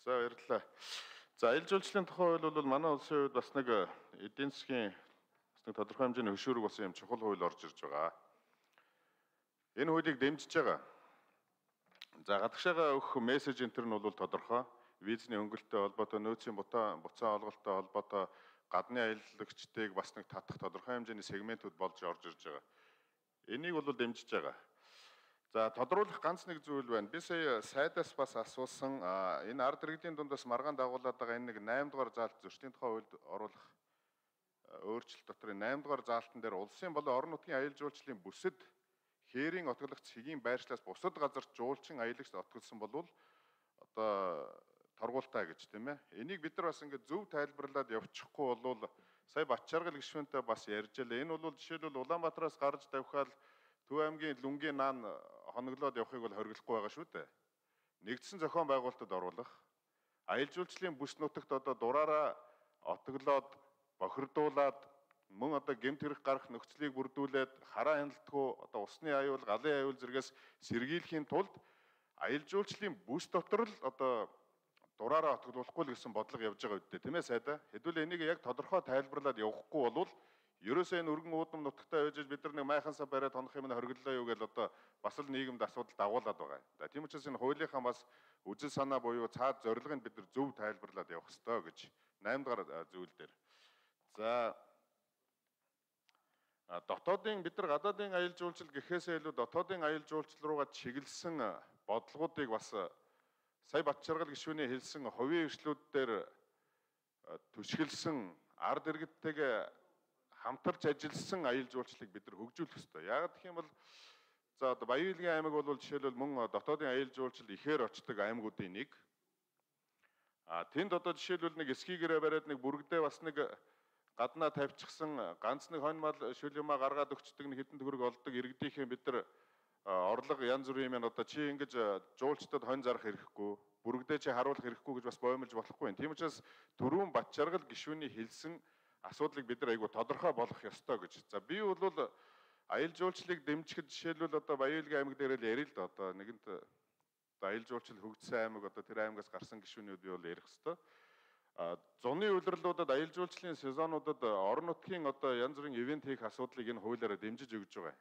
За баярлалаа. За аялал жуулчлалын тухай хууль бол манай улсын хувьд бас нэг эдийн засгийн бас нэг тодорхой хэмжээний хөшүүрэг болсон юм чухал хууль орж ирж байгаа. Энэ хуулийг дэмжиж байгаа. За гадагшаага өгөх мессеж энтер нь бол тодорхой. Визний хөнгөлөлтөй холбоотой, нөөцийн буцаан олголттой холбоотой гадны аялагчдыг бас нэг татах тодорхой хэмжээний сегментүүд болж орж ирж байгаа. Энийг бол дэмжиж байгаа. За тодруулах ганц нэг зүйл байна. Би сая сайдаас бас асуусан энэ ард иргэдийн дундаас маргаан дагуулад байгаа энэ нэг 8 дугаар заалт зөрчлийн тухай хуульд оруулах өөрчлөлт дотор 8 дугаар заалтан дээр улсын болон орон нутгийн аялал жуулчлалын бүсэд хээрийн отгологч хэгийн байршлаас бусад газарт жуулчин аялагч отголсон болвол одоо торгуултаа гэж тийм ээ. Энийг бид нар бас ингээд зөв тайлбарлаад явчихгүй болвол сая Батчааргал гишүүнтэй бас ярьжээ. Энэ бол жишээлбэл Улаанбаатараас гарч давхаал Төв аймгийн Лүнгийн наан хоноглоод явахыг бол хориглохгүй байгаа шүү дээ. Нэгдсэн зохион байгуулалтад оруулах, аялал жуулчлалын бүс нутагт одоо дураараа отоглоод, бохирдуулаад, мөн одоо гэмт хэрэг гарах нөхцөлийг бүрдүүлээд хараа хяналтгүй одоо усны аюул, галын аюул зэрэгс сэргийлэхийн тулд аялал жуулчлалын бүс дотор л одоо дураараа отоглуулахгүй л гэсэн бодлого явж байгаа үедээ тийм ээ сайдаа. Хэдүүл энийг яг тодорхой тайлбарлаад явахгүй болвол ерөөсөө энэ өргөн уудам нутагтаа байж бид нар нэг майхансаа бариад хонох юм хориглолоо юу гэж одоо бас л нийгэмд асуудал дагуулад байгаа. Тийм учраас энэ хуулийнхаа бас үжил санаа буюу цаад зорилгыг бид нар зөв тайлбарлаад явах ёстой гэж 8 дугаар зүйл дээр. За дотоодын бид нар гадаадын аялал жуулчлал гэхээсээ илүү дотоодын аялал жуулчлал руугаа чиглэсэн бодлогоодыг бас сая Батчааргал гишүүний хэлсэн хувийн эрхлүүд дээр түшгэлсэн ард иргэдтэйгээ хамтарч ажилласан аялал жуулчлалыг бид нар хөгжүүлэх ёстой. Яагаад гэх юм бол за одоо Баян-Илгийн аймаг бол жишээлбэл мөн дотоодын аялал жуулчлал ихээр очдог аймагуудын нэг. Тэнд одоо жишээлбэл нэг скигээрээ бариад нэг бүргэдээ бас нэг гаднаа тавьчихсан ганц нэг хонь мал шүл юмаа гаргаад өгчдөг нэг хэдэн төгрөг олдог иргэдийнхээ бид нар орлого янз бүрийн юм одоо чи ингэж жуулчдад хонь зарах хэрэггүй, бүргэдээ чи харуулах хэрэггүй гэж бас боомлж болохгүй юм. Тийм учраас түрүүн Батчааргал гишүүний хэлсэн асуудлыг бид нар айгүй тодорхой болгох ёстой гэж. За би бол аялал жуулчлалыг дэмжихэд жишээлбэл одоо Баян-Илгийн аймаг дээр л ярил л да одоо нэгэнт аялал жуулчлал хөгжсөн аймаг одоо тэр аймагаас гарсан гишүүнүүд би бол ярих ёстой. Зуны улирлуудад аялал жуулчлалын сезонуудад орон нутгийн одоо янз бүрийн ивент хийх асуудлыг энэ хуулиараа дэмжиж өгж байгаа.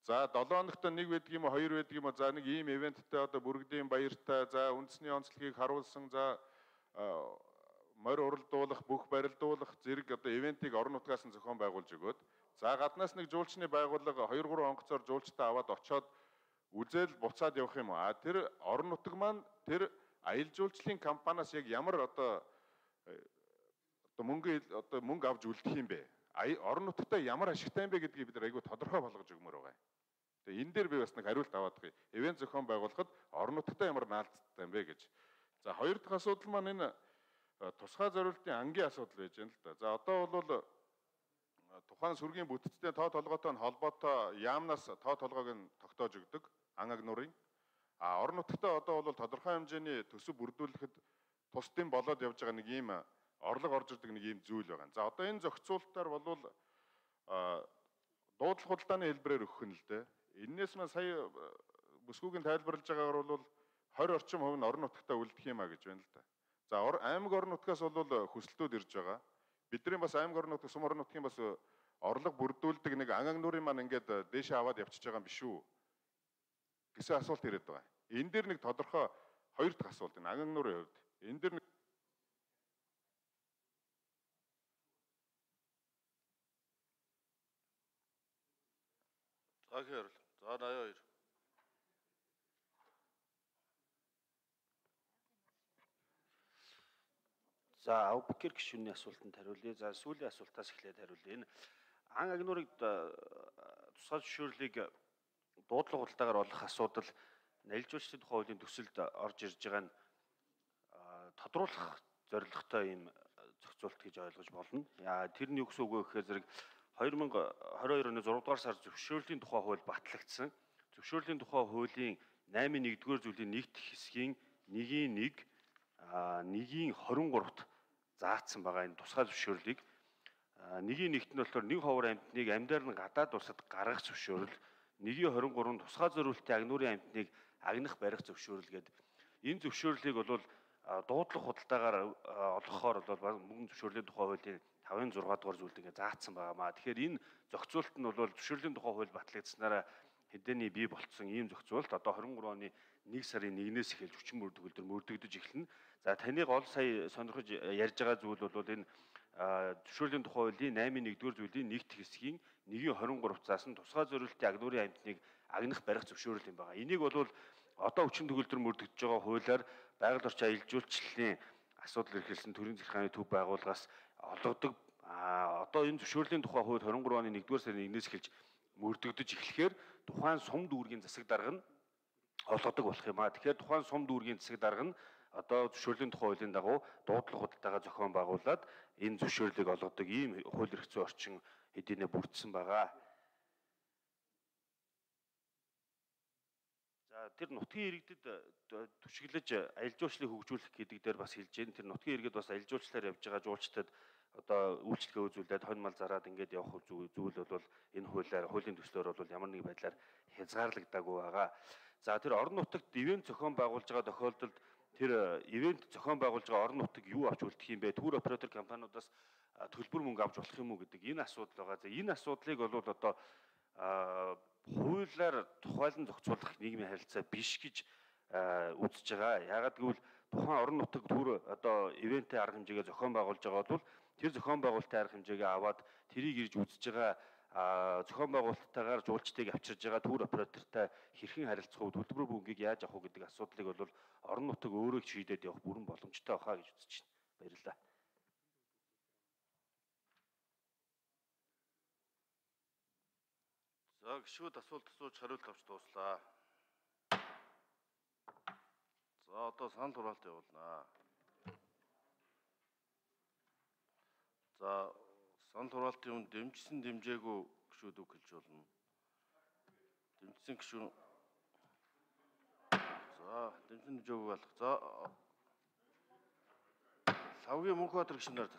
За 7 хоногт нэг байдаг юм уу 2 байдаг юм уу за нэг ийм ивенттэй одоо бүргэдийн баяртай за үндэсний онцлогийг харуулсан за морь уралдуулах, бүх барилдуулах зэрэг одоо ивентийг орон нутгаас нь зохион байгуулж өгөөд за гаднаас нэг жуулчны байгууллага 2-3 онгоцоор жуулчтай аваад очоод үзэл буцаад явах юм уу? Тэр орон нутаг маань тэр аялал жуулчлалын компаниас яг ямар одоо мөнгө авч үлдэх юм бэ? Орон нутагтаа ямар ашигтай юм бэ гэдгийг бид айгүй тодорхой болгож өгмөр байгаа. Тэгээ энэ дээр би бас нэг хариулт аваад байгаа. Ивент зохион байгуулахад орон нутагтаа ямар наалттай юм бэ гэж. За хоёр дахь асуудал маань энэ тусгай зориултын ангийн асуудал байж байна л да. За одоо бол тухайн сүргийн бүтцтэй тоо толгойтой холбоотой яамнаас тоо толгойг нь тогтоож өгдөг ан агнуурын. Орон нутагтаа одоо бол тодорхой хэмжээний төсөв бүрдүүлэхэд тусдын болоод явж байгаа нэг ийм орлого орж ирдэг нэг ийм зүйл байгаа. За одоо энэ зохицуулалтаар болвол дуудлага худалдааны хэлбэрээр өгөх нь л дээ. Эннээс маань сая бүсгүйгийн тайлбарлаж байгаагаар бол 20 орчим хувь нь орон нутагтаа үлдэх юм а гэж байна л да. За аймаг орон нутгаас бол хүсэлтүүд ирж байгаа. Бидний бас аймаг орон нутгийн сум орон нутгийн бас орлого бүрдүүлдэг нэг ан агнуурын маань ингээд дээшээ аваад явчихж байгаа юм биш үү гэсэн асуулт ирээд байгаа. Энэ дээр нэг тодорхой хоёр дахь асуулт энэ ан агнуурын хувьд. Энэ дээр нэг За 82. За Авбекер гишүүний асуултанд хариулъя. За сүүлийн асуултаас эхлээд хариулъя. Энэ ан агнуурыг тусгай зөвшөөрлийг дуудлага худалдаагаар олох асуудал аялал жуулчлалын тухай хуулийн төсөлд орж ирж байгаа нь тодруулах зорилготой юм зохицуулт гэж ойлгож болно. Тэр нь юу гэсэн үг вэ гэхээр зэрэг 2022 оны 6 дугаар сар зөвшөөрлийн тухай хууль батлагдсан. Зөвшөөрлийн тухай хуулийн 8.1-р зүйлийн нэгд хэсгийн 1.1-1-23-т заасан байгаа энэ тусгай зөвшөөрлийг 1.1-т нь болохоор нэг ховор амьтныг амьдаар нь гадаад улсад гаргах зөвшөөрөл, 1.23 тусгай зориултын агнуурын амьтныг агнах барих зөвшөөрөл гэдэг. Энэ зөвшөөрлийг бол дуудлага худалдаагаар олгохоор бол мөнгө зөвшөөрлийн тухай хуулийн 5-6 дугаар зүйлд ингээ заагдсан байгаамаа. Тэгэхээр энэ зохицуулт нь бол зөвшөөрлийн тухай хууль батлагдсанараа хэдээний бий болцсон ийм зохицуулт одоо 23 оны 1 сарын 1-ээс эхэлж хүчин төгөлдөр мөрдөгдөж эхэлнэ. За таныг ол сая сонирхож ярьж байгаа зүйл бол энэ зөвшөөрлийн тухай хуулийн 8-1-р зүйлийн нэгт хэсгийн 1-23-цаас нь тусгай зориултын агнуурын амьтныг агнах барих зөвшөөрөл юм байна. Энийг бол одоо хүчин төгөлдөр мөрдөгдөж байгаа хуулиар байгаль орчин аялал жуулчлалын асуудал эрхэлсэн төрийн захиргааны төв байгууллагаас олгодог. Одоо энэ зөвшөөрлийн тухай хууль 23 оны 1-р сарын 1-ээс эхэлж мөрдөгдөж эхлэхээр тухайн сум дүүргийн засаг дарга нь олгодог болох юм аа. Тэгэхээр тухайн сум дүүргийн засаг дарга нь одоо зөвшөөрлийн тухай хуулийн дагуу дуудлага худалдаага зохион байгуулад энэ зөвшөөрлийг олгодог ийм хууль эрх зүйн орчин хэдийнэ бүрдсэн байгаа. За тэр нутгийн иргэдэд түшиглэж аялал жуулчлалыг хөгжүүлэх гэдэг дээр бас хэлж байна. Тэр нутгийн иргэд бас аялал жуулчлалаар явж байгаа жуулчдад одоо үйлчлэгээ үзүүлээд хонь мал зараад ингээд явах зүйл бол энэ хуулийн төслөөр бол ямар нэг байдлаар хязгаарлагдаагүй байгаа. За тэр орон нутагт ивент зохион байгуулж байгаа тохиолдолд тэр ивент зохион байгуулж байгаа орон нутаг юу авч үлдэх юм бэ? Тур оператор компаниудаас төлбөр мөнгө авч болох юм уу гэдэг энэ асуудал байгаа. За энэ асуудлыг бол одоо хуулиар тухайлан зохицуулах нийгмийн харилцаа биш гэж үзэж байгаа. Яагаад гэвэл тухайн орон нутаг түр одоо ивентийн арга хэмжээгээ зохион байгуулж байгаа бол тэр зохион байгуулалтын арга хэмжээгээ аваад тэрийг ирж үзэж байгаа зохион байгуулалттайгаар жуулчдыг авчирж байгаа тур оператортай хэрхэн харилцах вэ? Төлбөр мөнгийг яаж авах вэ гэдэг асуудлыг бол орон нутаг өөрөө шийдээд явах бүрэн боломжтой бахаа гэж үзэж байна. Баярлалаа. За гишүүд асуулт асууж хариулт авч дууслаа. За одоо санал хураалт явуулнаа. За санал хураалтын өмнө дэмжсэн дэмжээгүй гишүүд үг хэлж болно. Дэмжсэн гишүүн. За дэмжсэн дэмжээгүй алга. За Лавгийн Мөнхбаатар гишүүнээр